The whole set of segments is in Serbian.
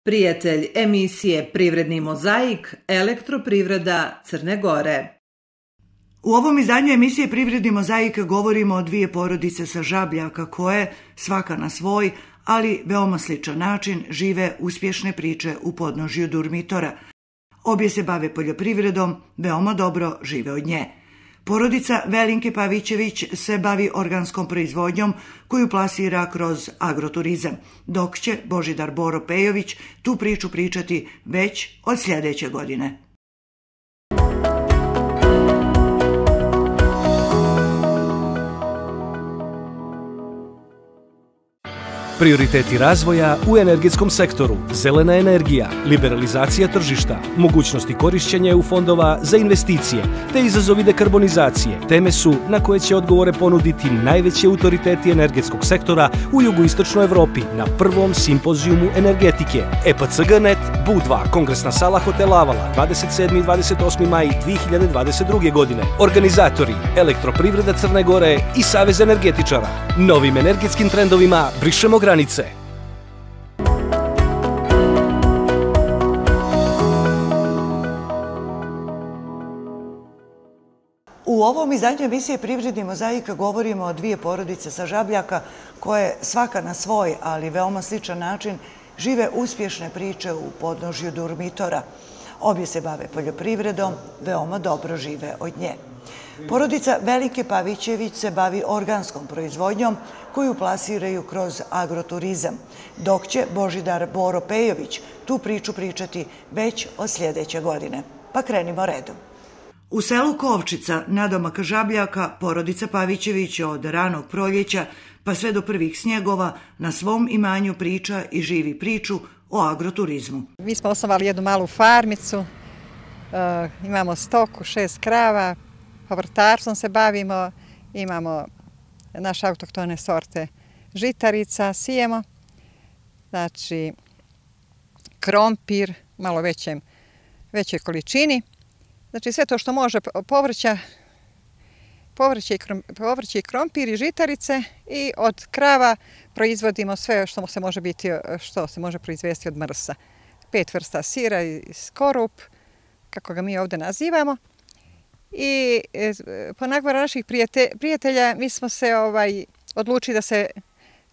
Prijatelj emisije Privredni mozaik, Elektroprivreda Crne Gore. U ovom izdanju emisije Privredni mozaik govorimo o dvije porodice sa Žabljaka koje, svaka na svoj, ali veoma sličan način, žive uspješne priče u podnožju Durmitora. Obje se bave poljoprivredom, veoma dobro žive od nje. Porodica Velinke Pavićević se bavi organskom proizvodnjom koju plasira kroz agroturizam, dok će Božidar Boro Pejović tu priču pričati već od sljedeće godine. Prioriteti razvoja u energetskom sektoru, zelena energija, liberalizacija tržišta, mogućnosti korišćenja EU fondova za investicije te izazovi dekarbonizacije teme su na koje će odgovore ponuditi najveći autoriteti energetskog sektora u jugoistočnoj Evropi na prvom simpozijumu energetike EPCG.net, BU2, Kongresna sala hotela Avala, 27. i 28. maj 2022. godine. Organizatori Elektroprivreda Crne Gore i Savez energetičara. Novim energetskim trendovima brišemo granice. U ovom izdanju emisije Privredni mozaik govorimo o dvije porodice sa Žabljaka koje svaka na svoj, ali veoma sličan način žive uspješne priče u podnožju Durmitora. Obje se bave poljoprivredom, veoma dobro žive od nje. Porodica Velinke Pavićević se bavi organskom proizvodnjom koju plasiraju kroz agroturizam, dok će Božidar Boro Pejović tu priču pričati već od sljedeće godine. Pa krenimo redom. U selu Kovčica, nadomak Žabljaka, porodica Pavićević od ranog proljeća pa sve do prvih snjegova na svom imanju priča i živi priču o agroturizmu. Mi smo osnovali jednu malu farmicu, imamo stoku, 6 krava, povrtarstvom se bavimo, imamo naše autohtone sorte žitarica, sijemo, znači krompir, malo većoj količini. Znači sve to što može povrće i krompir i žitarice i od krava proizvodimo sve što se može proizvesti od mrsa. 5 vrsta sira i skorup, kako ga mi ovdje nazivamo. I po nagovoru naših prijatelja mi smo se odlučili da se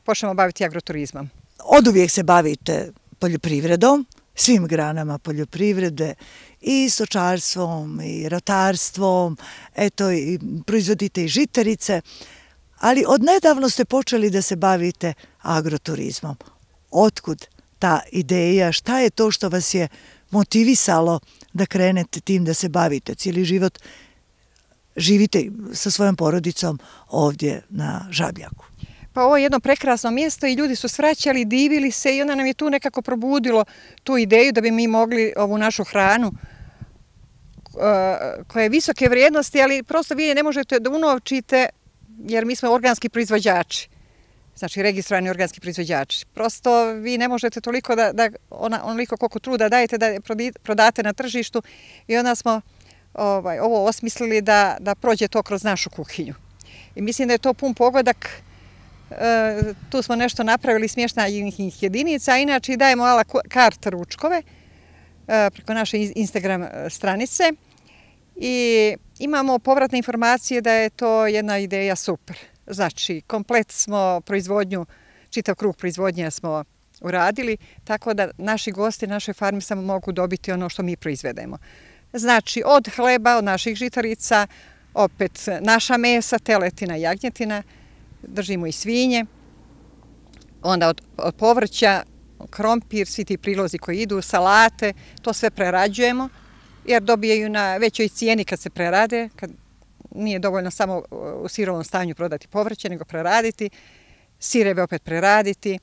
počnemo baviti agroturizmom. Oduvijek se bavite poljoprivredom, svim granama poljoprivrede, i stočarstvom, i ratarstvom, eto, i proizvodite i žitarice, ali odnedavno ste počeli da se bavite agroturizmom. Otkud ta ideja, šta je to što vas je motivisalo da krenete tim da se bavite? Cijeli život živite sa svojom porodicom ovdje na Žabljaku. Pa ovo je jedno prekrasno mjesto i ljudi su svraćali, divili se i onda nam je tu nekako probudilo tu ideju da bi mi mogli ovu našu hranu koja je visoke vrijednosti, ali prosto vi je ne možete da unovčite jer mi smo organski proizvođači, znači registrovani organski proizvođači. Prosto vi ne možete toliko onoliko koliko truda dajete da prodate na tržištu i onda smo ovo osmislili da prođe to kroz našu kuhinju. I mislim da je to pun pogodak. Tu smo nešto napravili smještajnih jedinica, a inače dajemo ala kart ručkove preko naše Instagram stranice i imamo povratne informacije da je to jedna ideja super. Znači, komplet smo proizvodnju, čitav krug proizvodnje smo uradili, tako da naši gosti, naše farme samo mogu dobiti ono što mi proizvedemo. Znači, od hleba, od naših žitarica, opet naša mesa, teletina, jagnjetina, držimo i svinje, onda od povrća, krompir, svi ti prilozi koji idu, salate, to sve prerađujemo, jer dobijaju na većoj cijeni kad se prerade, kad nije dovoljno samo u sirovom stanju prodati povrće, nego preraditi, sireve opet preraditi,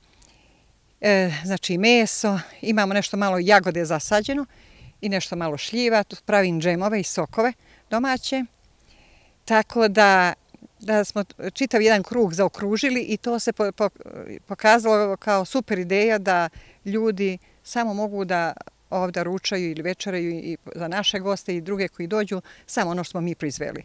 znači meso, imamo nešto malo jagode zasađeno i nešto malo šljiva, tu pravim džemove i sokove domaće, tako da smo čitav jedan krug zaokružili i to se pokazalo kao super ideja da ljudi samo mogu da ovdje ručaju ili večeraju i za naše goste i druge koji dođu, samo ono što smo mi proizveli.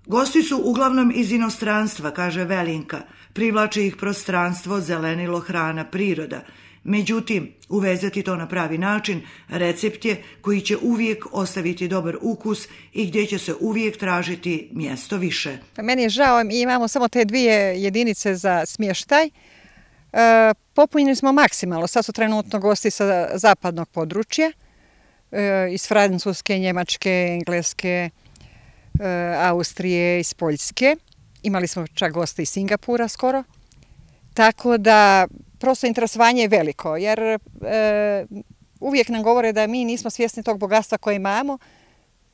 Gosti su uglavnom iz inostranstva, kaže Velinka. Privlači ih prostranstvo, zelenilo, hrana, priroda. Međutim, uvezati to na pravi način recept je koji će uvijek ostaviti dobar ukus i gdje će se uvijek tražiti mjesto više. Meni je žao, mi imamo samo te 2 jedinice za smještaj. Popunjeni smo maksimalno. Sad su trenutno gosti sa zapadnog područja, iz Francuske, Njemačke, Engleske, Austrije, iz Poljske. Imali smo čak goste iz Singapura skoro. Tako da prosto interesovanje je veliko, jer uvijek nam govore da mi nismo svjesni tog bogatstva koje imamo,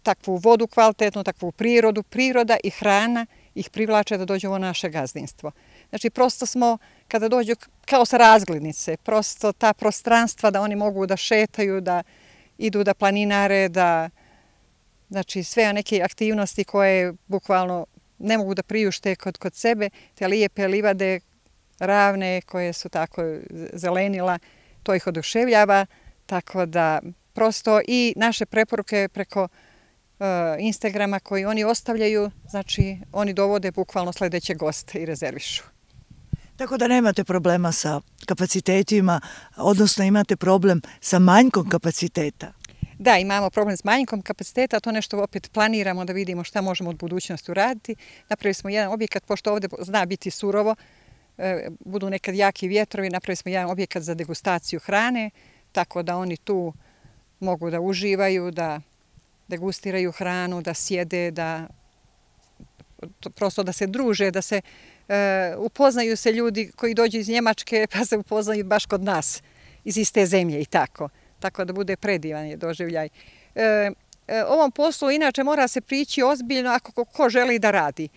takvu vodu kvalitetnu, takvu prirodu. Priroda i hrana ih privlače da dođu u naše gazdinstvo. Znači, prosto smo, kada dođu kao sa razglednice, prosto ta prostranstva da oni mogu da šetaju, da idu da planinare, da, znači, sve neke aktivnosti koje bukvalno ne mogu da priušte kod sebe, te lijepe livade, ravne koje su tako zelenila, to ih oduševljava, tako da prosto i naše preporuke preko Instagrama koji oni ostavljaju, znači oni dovode bukvalno sljedeće goste i rezervišu. Tako da nemate problema sa kapacitetima, odnosno imate problem sa manjkom kapaciteta. Da, imamo problem s manjkom kapaciteta, to nešto opet planiramo da vidimo šta možemo od budućnosti uraditi. Napravili smo jedan objekat, pošto ovdje zna biti surovo, budu nekad jaki vjetrovi, napravili smo jedan objekat za degustaciju hrane, tako da oni tu mogu da uživaju, da degustiraju hranu, da sjede, da prosto da se druže, da se upoznaju se ljudi koji dođu iz Njemačke pa se upoznaju baš kod nas, iz iste zemlje i tako. Tako da bude predivan doživljaj. Ovom poslu inače mora se prići ozbiljno ako ko želi da radi.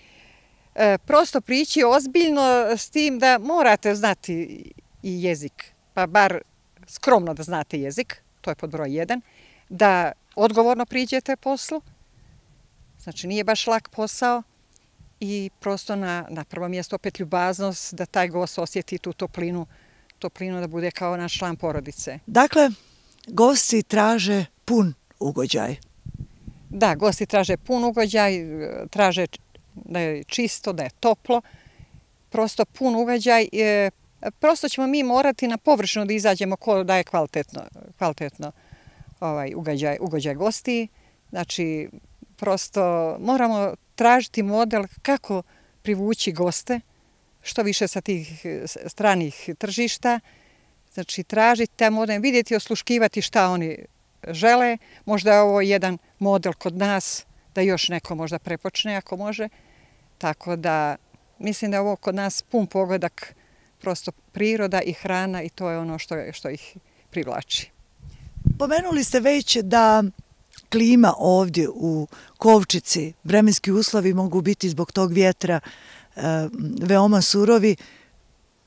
Prosto prići ozbiljno s tim da morate znati i jezik, pa bar skromno da znate jezik, to je pod broj 1, da odgovorno priđete poslu, znači nije baš lak posao i prosto na prvo mjesto opet ljubaznost da taj gost osjeti tu toplinu da bude kao naš član porodice. Dakle, gosti traže pun ugođaj. Da, gosti traže pun ugođaj, traže da je čisto, da je toplo, prosto pun ugođaj. Prosto ćemo mi morati na površinu da izađemo ko daje kvalitetno ugođaj gosti. Znači, prosto moramo tražiti model kako privući goste, što više sa tih stranih tržišta. Znači, tražiti taj model, vidjeti i osluškivati šta oni žele. Možda je ovo jedan model kod nas, da još neko možda prepočne ako može. Tako da, mislim da je ovo kod nas pun pogodak, prosto priroda i hrana i to je ono što ih privlači. Pomenuli ste već da klima ovdje u Kovčici, vremenski uslovi mogu biti zbog tog vjetra veoma surovi,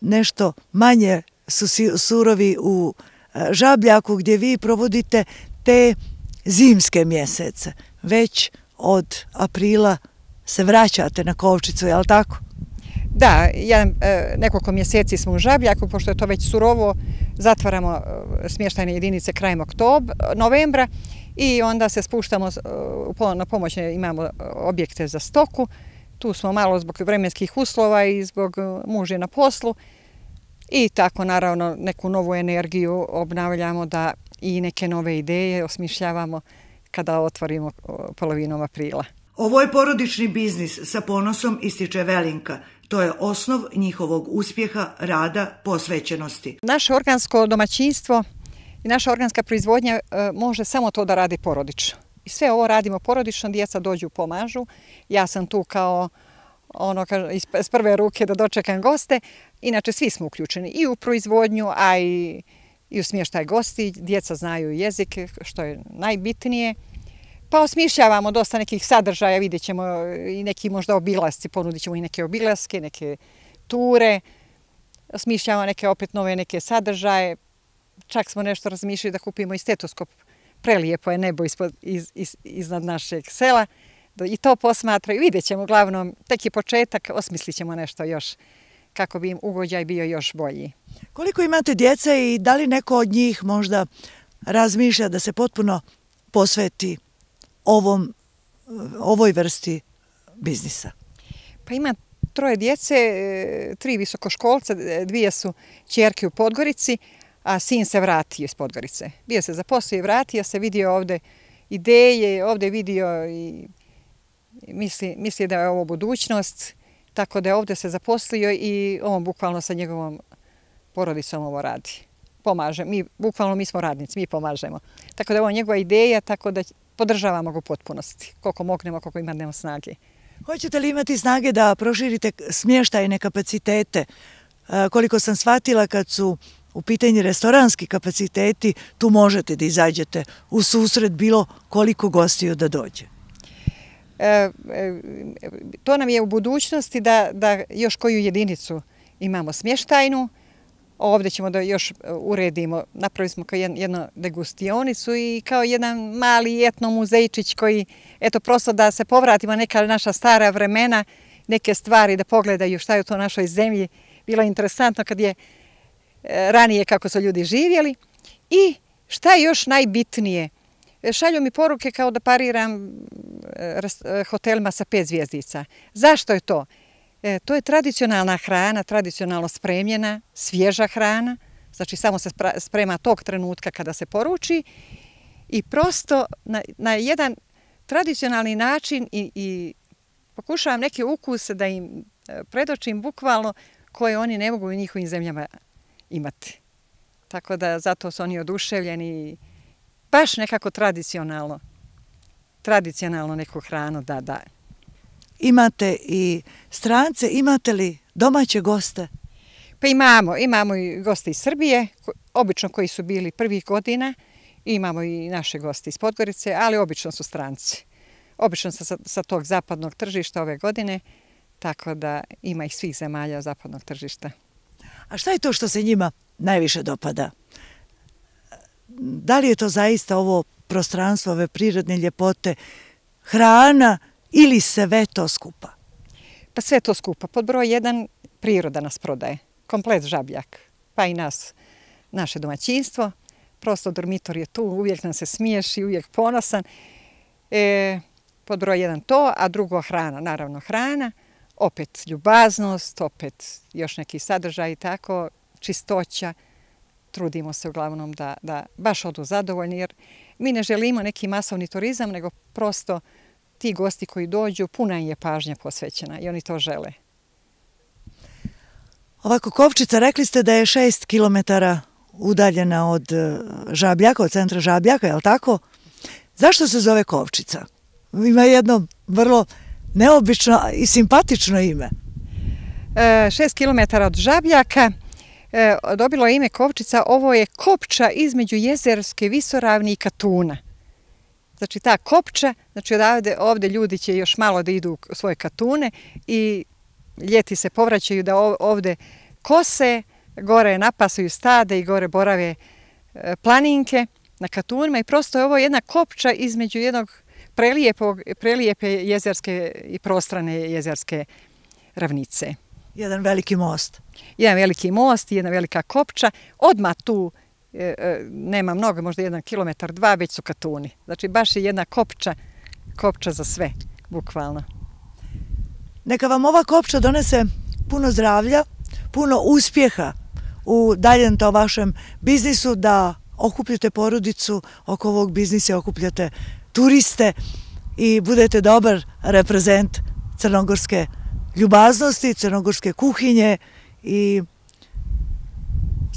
nešto manje su surovi u Žabljaku gdje vi provodite te zimske mjesece. Već od aprila se vraćate na Kovčicu, je li tako? Da, nekoliko mjeseci smo u Žabljaku, pošto je to već surovo, zatvaramo smještajne jedinice krajem novembra i onda se spuštamo na pomoć, imamo objekte za stoku. Tu smo malo zbog vremenskih uslova i zbog muža na poslu i tako naravno neku novu energiju obnavljamo da i neke nove ideje osmišljavamo kada otvorimo polovinom aprila. Ovo je porodični biznis, sa ponosom ističe Velinka. To je osnov njihovog uspjeha, rada, posvećenosti. Naše organsko domaćinstvo i naša organska proizvodnja može samo to da radi porodično. I sve ovo radimo porodično, djeca dođu, pomažu. Ja sam tu kao iz prve ruke da dočekam goste. Inače, svi smo uključeni i u proizvodnju, a i u smještaj gosti. Djeca znaju jezik, što je najbitnije. Pa osmišljavamo dosta nekih sadržaja, vidjet ćemo i neki možda obilasci, ponudit ćemo i neke obilaske, neke ture. Osmišljavamo neke opet nove neke sadržaje. Čak smo nešto razmišljali da kupimo i stetoskop. Prelijepo je nebo iznad našeg sela. I to posmatraju. Vidjet ćemo uglavnom, tek je početak, osmislit ćemo nešto još kako bi im ugođaj bio još bolji. Koliko imate djece i da li neko od njih možda razmišlja da se potpuno posveti ovoj vrsti biznisa? Pa ima 3 djece, 3 visokoškolca, 2 su ćerke u Podgorici, a sin se vratio iz Podgorice. Bio se zaposlio i vratio se, vidio ovde ideje, ovde vidio i misli da je ovo budućnost, tako da je ovde se zaposlio i on bukvalno sa njegovom porodicom ovo radi. Pomaže. Bukvalno mi smo radnici, mi pomažemo. Tako da je ovo njegova ideja, tako da podržavamo ga u potpunosti. Koliko mognemo, koliko imamo snage. Hoćete li imati snage da proširite smještajne kapacitete? Koliko sam shvatila, kad su u pitanju restoranski kapaciteti, tu možete da izađete u susret bilo koliko gostiju da dođe. To nam je u budućnosti da još koju jedinicu imamo smještajnu. Ovdje ćemo da još uredimo, napravili smo kao jednu degustionicu i kao jedan mali etno muzejčić koji, eto, prosto da se povratimo neka naša stara vremena, neke stvari da pogledaju šta je to u našoj zemlji. Bilo je interesantno kad je ranije kako su ljudi živjeli. I šta je još najbitnije? Šalju mi poruke kao da pariram hotelima sa 5 zvjezdica. Zašto je to? To je tradicionalna hrana, tradicionalno spremljena, svježa hrana. Znači samo se sprema tog trenutka kada se poruči i prosto na jedan tradicionalni način i pokušavam neke ukuse da im predočim bukvalno koje oni ne mogu u njihovim zemljama imati. Tako da zato su oni oduševljeni baš nekako tradicionalno neku hranu da. Imate i strance, imate li domaće goste? Pa imamo i goste iz Srbije, obično koji su bili prvih godina, imamo i naše goste iz Podgorice, ali obično su stranci. Obično sa tog zapadnog tržišta ove godine, tako da ima ih svih zemalja zapadnog tržišta. A šta je to što se njima najviše dopada? Da li je to zaista ovo prostranstvo, ove prirodne ljepote, hrana ili sve to skupa? Pa sve to skupa. Pod broj 1 priroda nas prodaje. Komplet Žabljak. Pa i naše domaćinstvo. Prosto dormitor je tu, uvijek nam se smiješi, uvijek ponosan. Pod broj 1 to, a drugo hrana. Naravno hrana, opet ljubaznost, opet još neki sadržaj i tako, čistoća. Trudimo se uglavnom da baš odu zadovoljni, jer mi ne želimo neki masovni turizam, nego prosto ti gosti koji dođu, puna im je pažnja posvećena i oni to žele. Ovako, Kovčica, rekli ste da je 6 kilometara udaljena od Žabljaka, od centra Žabljaka, je li tako? Zašto se zove Kovčica? Ima jedno vrlo neobično i simpatično ime. 6 kilometara od Žabljaka dobilo je ime Kovčica. Ovo je kopča između Jezerske visoravni i Katuna. Znači ta kopča, znači ovdje ljudi će još malo da idu u svoje katune i ljeti se povraćaju da ovdje kose, gore napasuju stade i gore borave planinke na katunima i prosto je ovo jedna kopča između jednog prelijepe jezerske i prostrane jezerske ravnice. Jedan veliki most. Jedan veliki most i jedna velika kopča. Odmah tu nema mnogo, možda 1 kilometar, 2, već su katuni. Znači baš je jedna kopča za sve, bukvalno. Neka vam ova kopča donese puno zdravlja, puno uspjeha u daljem to vašem biznisu, da okupljate porodicu oko ovog biznisa, okupljate turiste i budete dobar reprezent crnogorske ljubaznosti, crnogorske kuhinje i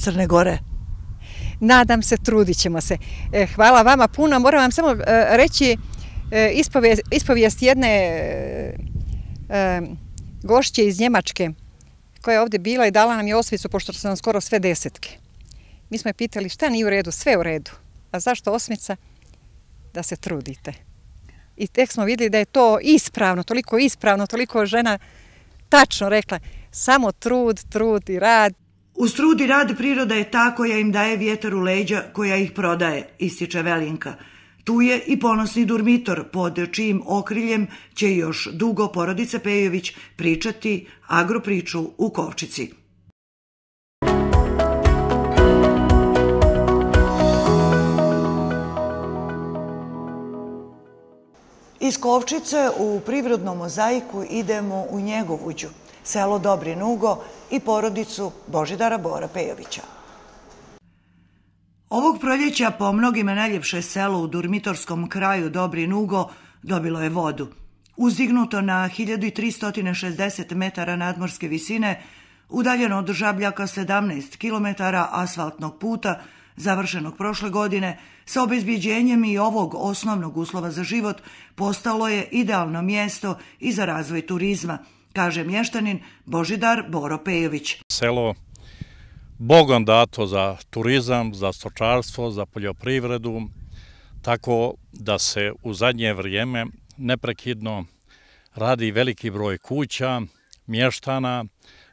Crne Gore. Nadam se, trudit ćemo se. Hvala vama puno. Moram vam samo reći ispovijest jedne gošće iz Njemačke koja je ovdje bila i dala nam je osmicu, pošto su nam skoro sve 10. Mi smo je pitali šta nije u redu, sve u redu. A zašto osmica? Da se trudite. I tek smo vidjeli da je to ispravno, toliko žena tačno rekla, samo trud i rad. Uz trud i rad priroda je ta koja im daje vjetar u leđa, koja ih prodaje, ističe Velinka. Tu je i ponosni Durmitor, pod čijim okriljem će još dugo porodica Pejović pričati agropriču u Kovčici. Iz Kovčice u privrednom mozaiku idemo u Njegovuđu, selo Dobri Nugo i porodicu Božidara Bora Pejovića. Ovog proljeća po mnogima najljepše selo u Durmitorskom kraju Dobrin Ugo dobilo je vodu. Uzdignuto na 1360 metara nadmorske visine, udaljeno od Žabljaka 17 km asfaltnog puta, završenog prošle godine, sa obezbjeđenjem i ovog osnovnog uslova za život, postalo je idealno mjesto i za razvoj turizma, kaže mještanin Božidar Boro Pejović. Selo Bogom dato za turizam, za stočarstvo, za poljoprivredu, tako da se u zadnje vrijeme neprekidno radi veliki broj kuća, mještana,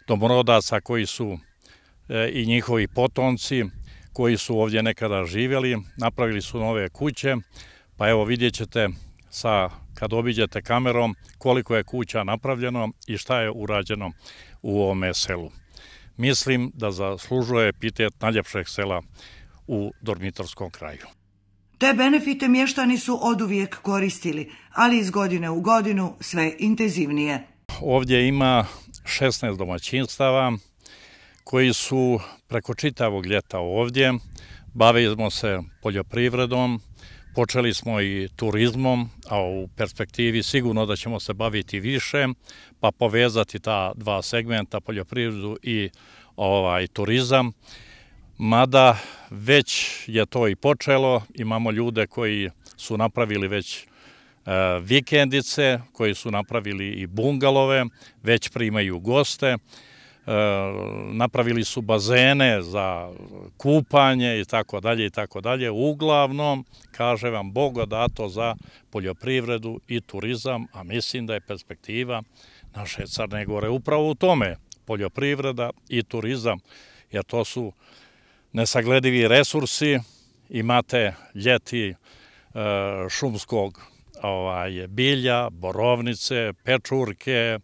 domorodaca koji su i njihovi potomci, koji su ovdje nekada živjeli, napravili su nove kuće, pa evo vidjet ćete kad obiđete kamerom koliko je kuća napravljeno i šta je urađeno u ovome selu. Mislim da zaslužuje epitet najljepšeg sela u Durmitorskom kraju. Te benefite mještani su oduvijek koristili, ali iz godine u godinu sve intenzivnije. Ovdje ima 16 domaćinstava koji su preko čitavog ljeta ovdje. Bavimo se poljoprivredom, počeli smo i turizmom, a u perspektivi sigurno da ćemo se baviti više, pa povezati ta dva segmenta, poljoprivredu i turizam. Mada već je to i počelo, imamo ljude koji su napravili već vikendice, koji su napravili i bungalove, već primaju goste, napravili su bazene za kupanje i tako dalje i tako dalje. Uglavnom, kaže vam, Bogo dato za poljoprivredu i turizam, a mislim da je perspektiva naše Crne Gore upravo u tome, poljoprivreda i turizam, jer to su nesagledivi resursi. Imate ljeti šumskog bilja, borovnice, pečurke,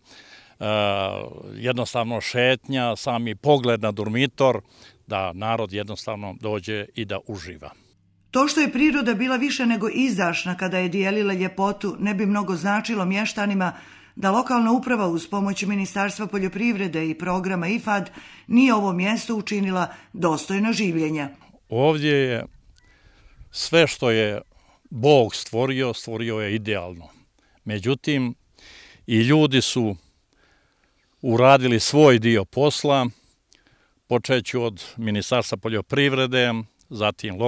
jednostavno šetnja, sami pogled na Durmitor, da narod jednostavno dođe i da uživa. To što je priroda bila više nego izdašna kada je dijelila ljepotu, ne bi mnogo značilo mještanima da lokalna uprava uz pomoć Ministarstva poljoprivrede i programa IFAD nije ovo mjesto učinila dostojno življenja. Ovdje je sve što je Bog stvorio, stvorio je idealno. Međutim, i ljudi su uradili svoj dio posla, počeću od Ministarstva poljoprivrede, zatim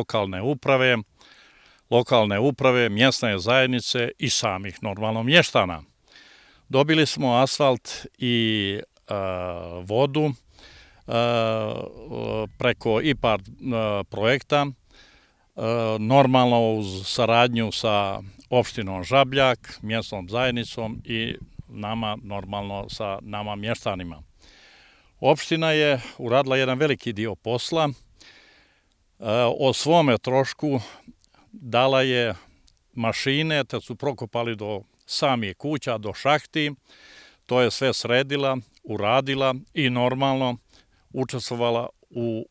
lokalne uprave, mjesne zajednice i samih normalno mještana. Dobili smo asfalt i vodu preko IPARD projekta, normalno uz saradnju sa opštinom Žabljak, mjesnom zajednicom i nama, normalno sa nama mještanima. Opština je uradila jedan veliki dio posla, o svome trošku dala je mašine, te su prokopali do samih kuća, do šahti, to je sve sredila, uradila i normalno učestvovala u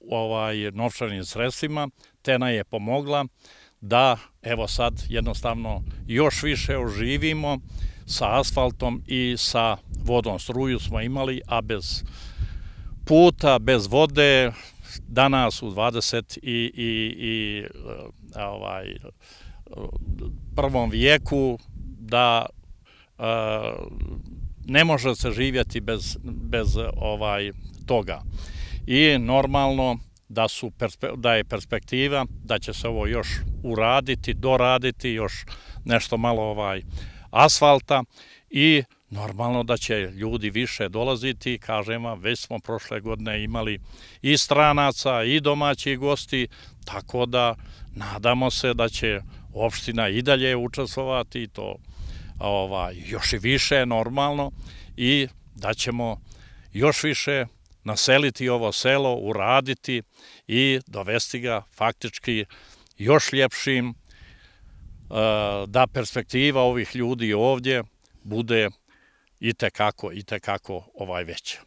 novčanim sredstvima, te nam je pomogla da evo sad jednostavno još više oživimo sa asfaltom i sa vodom. Struju smo imali, a bez puta, bez vode, danas u 21. vijeku da ne može se živjeti bez toga. I normalno da je perspektiva da će se ovo još uraditi, doraditi, još nešto malo asfalta i normalno da će ljudi više dolaziti. Kažem vam, već smo prošle godine imali i stranaca i domaćih gosti, tako da nadamo se da će opština i dalje učestvovati, to još i više normalno, i da ćemo još više naseliti ovo selo, uraditi i dovesti ga faktički još ljepšim, da perspektiva ovih ljudi ovdje bude i tekako veća.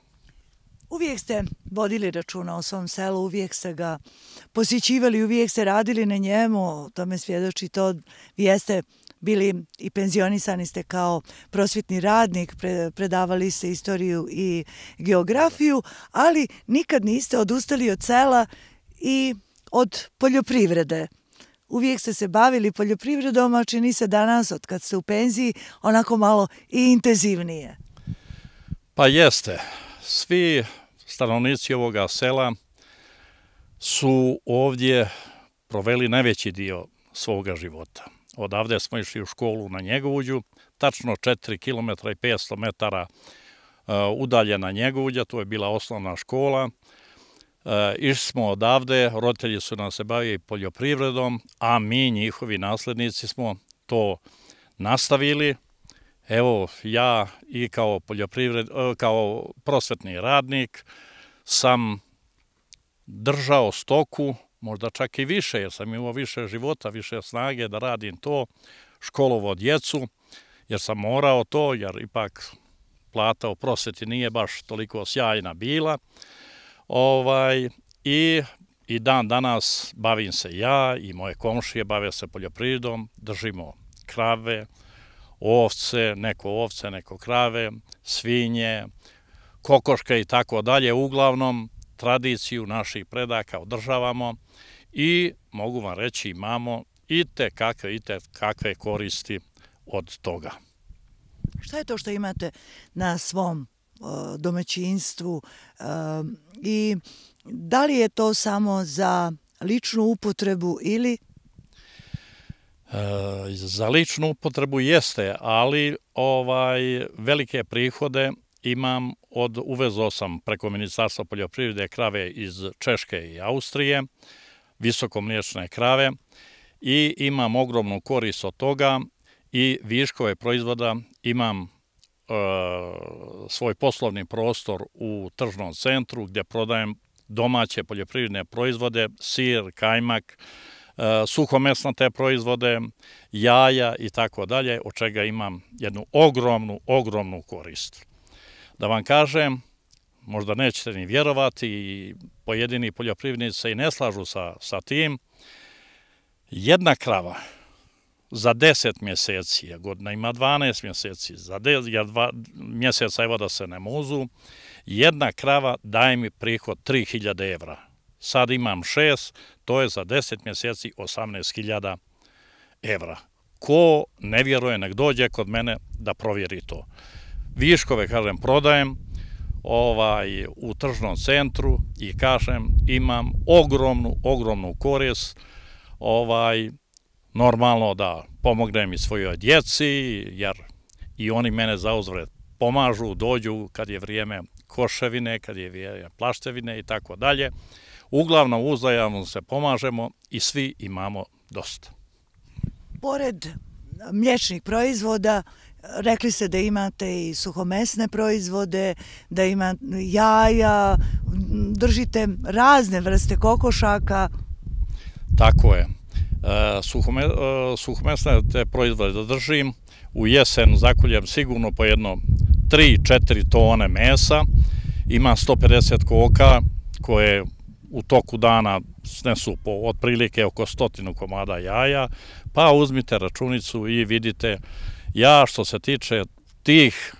Uvijek ste vodili računa o svom selu, uvijek ste ga posjećivali, uvijek ste radili na njemu, o tome svjedoči to. Vi jeste bili i penzionisani ste kao prosvjetni radnik, predavali ste istoriju i geografiju, ali nikad niste odustali od sela i od poljoprivrede. Uvijek ste se bavili poljoprivredom, a čini se danas, od kad ste u penziji, onako malo i intenzivnije. Pa jeste. Svi stanovnici ovoga sela su ovdje proveli najveći dio svoga života. Odavde smo išli u školu na Njegovuđu, tačno 4 km i 500 metara udaljena Njegovuđa, to je bila osnovna škola. Išli smo odavde, roditelji su nas se bavili poljoprivredom, a mi, njihovi naslednici, smo to nastavili. Evo, ja i kao prosvetni radnik sam držao stoku, možda čak i više, jer sam imao više života, više snage da radim to, školovo djecu, jer sam morao to, jer ipak plata u prosveti nije baš toliko sjajna bila. I dan danas bavim se ja i moje komšije bave se poljoprivredom, držimo krave, ovce, neko krave, svinje, kokoške i tako dalje. Uglavnom, tradiciju naših predaka održavamo i mogu vam reći imamo i te kakve koristi od toga. Šta je to što imate na svom domaćinstvu i da li je to samo za ličnu upotrebu ili? Za ličnu upotrebu jeste, ali velike prihode imam uvezao sam preko Ministarstva poljoprivrede krave iz Češke i Austrije, visokomliječne krave i imam ogromnu korist od toga i viškove proizvoda imam svoj poslovni prostor u tržnom centru gdje prodajem domaće poljoprivredne proizvode, sir, kajmak, suhomesnate proizvode, jaja i tako dalje, od čega imam jednu ogromnu korist. Da vam kažem, možda nećete ni vjerovati i pojedini poljoprivrednici se i ne slažu sa tim, jedna krava za 10 mjeseci, godina ima 12 mjeseci, za 2 mjeseca evo da se ne muzu, jedna krava daje mi prihod 3000 evra. Sad imam 6, to je za 10 mjeseci 18.000 evra. Ko ne vjeruje, nek dođe kod mene da provjeri to. Viškove, kažem, prodajem u tržnom centru i kažem, imam ogromnu korist, normalno da pomognem i svojoj djeci, jer i oni mene zauzvrat pomažu, dođu kad je vrijeme koševine, kad je vrijeme plaštevine i tako dalje. Uglavnom uzajamno se pomažemo i svi imamo dosta. Pored mliječnih proizvoda, rekli ste da imate i suhomesne proizvode, da imate jaja, držite razne vrste kokošaka. Tako je. Suhomesne te proizvode da držim. U jesen zakoljem sigurno po jedno 3-4 tone mesa. Imam 150 koka koje u toku dana snesu po otprilike oko 100 komada jaja, pa uzmite računicu i vidite, ja što se tiče tih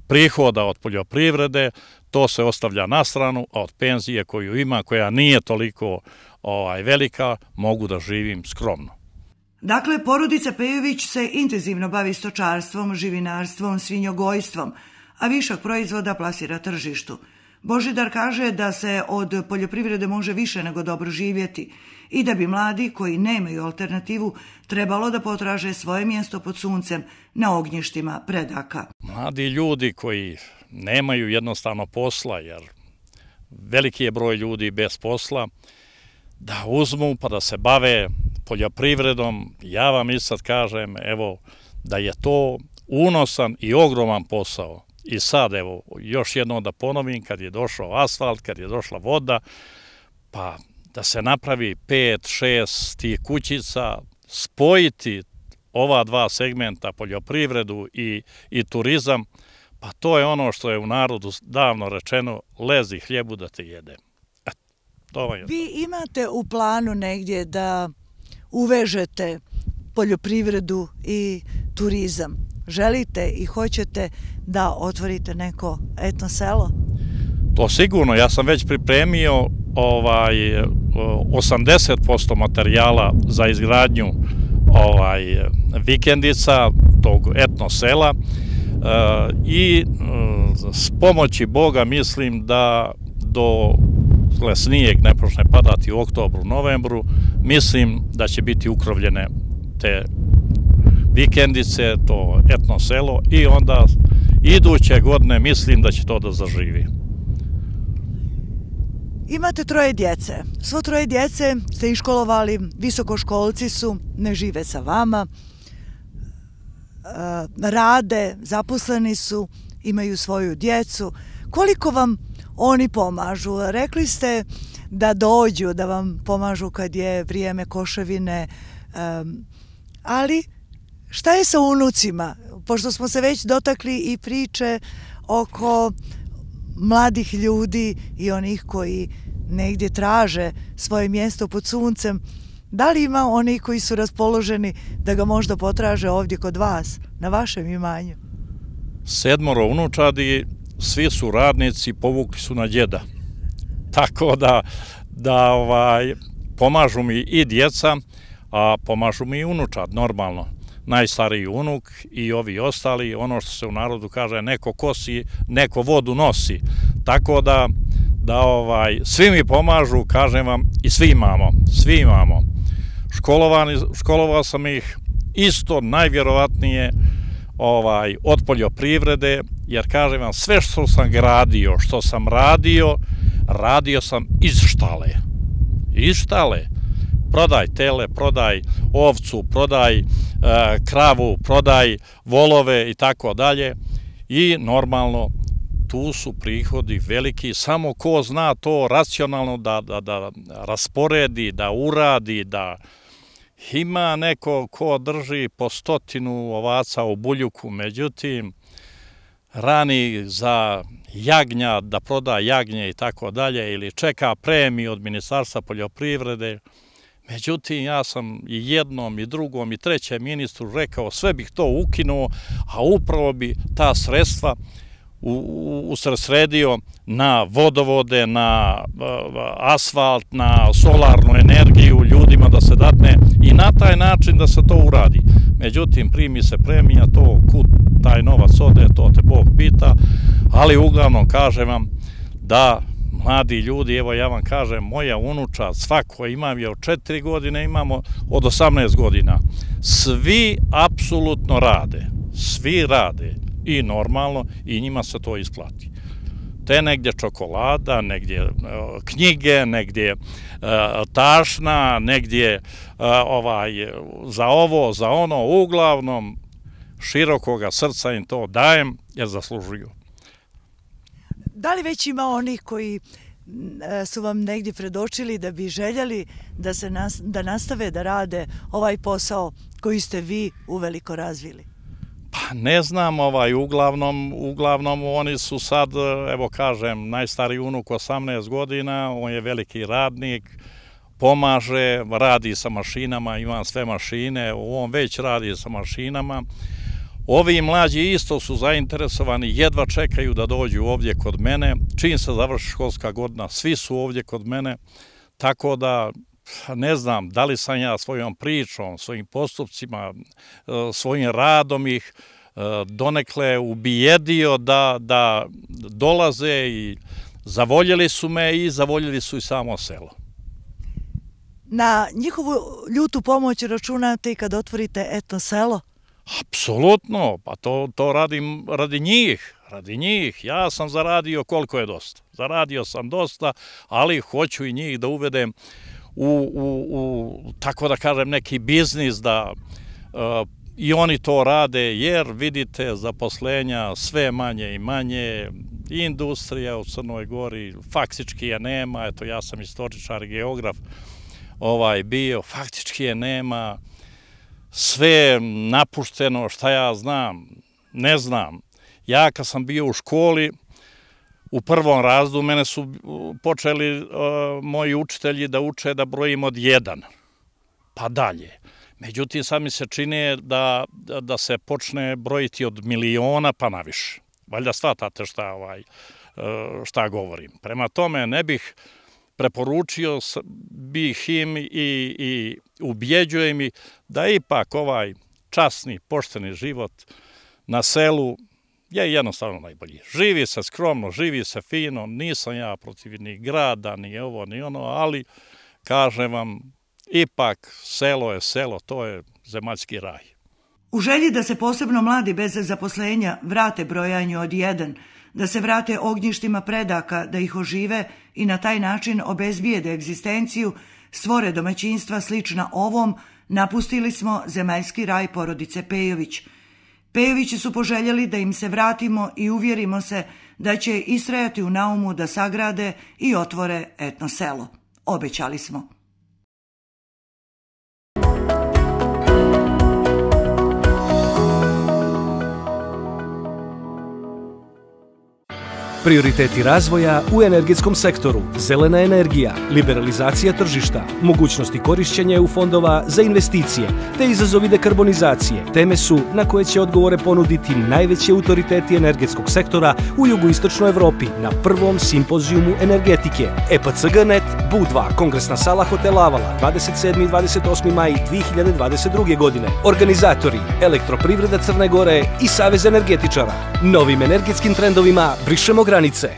prihoda od poljoprivrede, to se ostavlja na stranu, a od penzije koju ima, koja nije toliko velika, mogu da živim skromno. Dakle, porodica Pejović se intenzivno bavi stočarstvom, živinarstvom, svinjogojstvom, a višak proizvoda plasira tržištu. Božidar kaže da se od poljoprivrede može više nego dobro živjeti i da bi mladi koji nemaju alternativu trebalo da potraže svoje mjesto pod suncem na ognjištima predaka. Mladi ljudi koji nemaju jednostavno posla, jer veliki je broj ljudi bez posla, da uzmu pa da se bave poljoprivredom. Ja vam i sad kažem, evo, da je to unosan i ogroman posao. I sad, evo, još jednom da ponovim, kad je došao asfalt, kad je došla voda, pa da se napravi 5-6 tih kućica, spojiti ova dva segmenta, poljoprivredu i turizam, pa to je ono što je u narodu davno rečeno, lezi hljebu da te jede. Vi imate u planu negdje da uvežete poljoprivredu i turizam? Želite i hoćete da otvorite neko etno selo? To sigurno, ja sam već pripremio 80% materijala za izgradnju vikendica, tog etno sela, i s pomoći Boga mislim da snijeg ne počne padati u oktobru, novembru, mislim da će biti ukrovljene te vikendice, to etno selo, i onda iduće godine mislim da će to da zaživi. Imate 3 djece. Svo 3 djece ste iškolovali, visokoškolci su, ne žive sa vama, rade, zaposleni su, imaju svoju djecu. Koliko vam oni pomažu? Rekli ste da dođu, da vam pomažu kad je vrijeme koševine, ali šta je sa unucima? Pošto smo se već dotakli i priče oko mladih ljudi i onih koji negdje traže svoje mjesto pod suncem, da li ima oni koji su raspoloženi da ga možda potraže ovdje kod vas, na vašem imanju? 7 unučadi, svi su radnici, povukli su na djeda. Tako da pomažu mi i djeca, a pomažu mi i unučad, normalno. Najstariji unuk i ovi ostali, ono što se u narodu kaže, neko kosi, neko vodu nosi. Tako da svi mi pomažu, kažem vam, i svi imamo. Školovao sam ih isto najvjerovatnije od poljoprivrede, jer kažem vam, sve što sam gradio, što sam radio sam iz štale. Iz štale. Prodaj tele, prodaj ovcu, prodaj kravu, prodaj volove i tako dalje. I normalno, tu su prihodi veliki, samo ko zna to racionalno da rasporedi, da uradi, da ima neko ko drži po 100 ovaca u buljuku, međutim, rani za jagnja, da proda jagnje i tako dalje, ili čeka premiju od Ministarstva poljoprivrede. Međutim, ja sam i jednom, i drugom, i trećem ministru rekao, sve bih to ukinuo, a upravo bi ta sredstva usredsredio na vodovode, na asfalt, na solarnu energiju, ljudima da se datne i na taj način da se to uradi. Međutim, primi se premija, to kud taj novac ode, to te Bog pita, ali uglavnom kažem vam da mladi ljudi, evo ja vam kažem, moja unučad, svako imam je od 4 godine, imamo od 18 godina. Svi apsolutno rade, svi rade i normalno i njima se to isplati. Te negdje čokolada, negdje knjige, negdje tašna, negdje za ovo, za ono, uglavnom širokoga srca im to dajem jer zaslužuju. Da li već ima onih koji su vam negdje predočili da bi željeli da nastave da rade ovaj posao koji ste vi uveliko razvili? Pa ne znam, uglavnom oni su sad, evo kažem, najstariji unuk 18 godina, on je veliki radnik, pomaže, radi sa mašinama, ima sve mašine, on već radi sa mašinama. Ovi mlađi isto su zainteresovani, jedva čekaju da dođu ovdje kod mene. Čim se završi školska godina, svi su ovdje kod mene, tako da ne znam da li sam ja svojom pričom, svojim postupcima, svojim radom ih donekle ubijedio da dolaze i zavoljeli su me i zavoljeli su i samo selo. Na njihovu ljutu pomoć računate i kad otvorite etno selo? Apsolutno, pa to radim radi njih. Ja sam zaradio koliko je dosta. Zaradio sam dosta, ali hoću i njih da uvedem u tako da kažem, neki biznis da i oni to rade, jer vidite zaposlenja sve manje i manje, industrija u Crnoj Gori faktički je nema, eto ja sam istoričar i geograf bio, faktički je nema, sve je napušteno, šta ja znam, ne znam. Ja kad sam bio u školi, u prvom razredu mene su počeli moji učitelji da uče da brojim od 1, pa dalje. Međutim, sad mi se čini da se počne brojiti od miliona pa naviše. Valjda shvatate šta govorim. Prema tome ne bih preporučio bih im i ubjeđujem ih da ipak ovaj časni, pošteni život na selu je jednostavno najbolji. Živi se skromno, živi se fino, nisam ja protiv ni grada, ni ovo, ni ono, ali kažem vam, ipak selo je selo, to je zemaljski raj. U želji da se posebno mladi bez zaposlenja vrate brojanju od 1, da se vrate ognjištima predaka, da ih ožive i na taj način obezbijede egzistenciju, stvore domaćinstva slična ovom, napustili smo zemaljski raj porodice Pejović. Pejovići su poželjeli da im se vratimo i uvjerimo se da će istrajati u naumu da sagrade i otvore etno selo. Obećali smo. Prioriteti razvoja u energetskom sektoru, zelena energija, liberalizacija tržišta, mogućnosti korišćenja EU fondova za investicije te izazovi dekarbonizacije teme su na koje će odgovore ponuditi najveći autoriteti energetskog sektora u jugoistočnoj Evropi na prvom simpozijumu energetike EPCG.net BU2, Kongresna sala hotela Avala, 27. i 28. maj 2022. godine. Organizatori Elektroprivreda Crne Gore i Savez energetičara. Novim energetskim trendovima brišemo granice.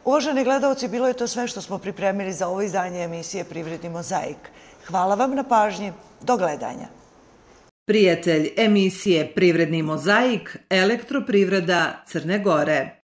Uvaženi gledalci, bilo je to sve što smo pripremili za ovo izdanje emisije Privredni mozaik. Hvala vam na pažnji. Do gledanja. Prijatelj emisije Privredni mozaik, Elektroprivreda Crne Gore.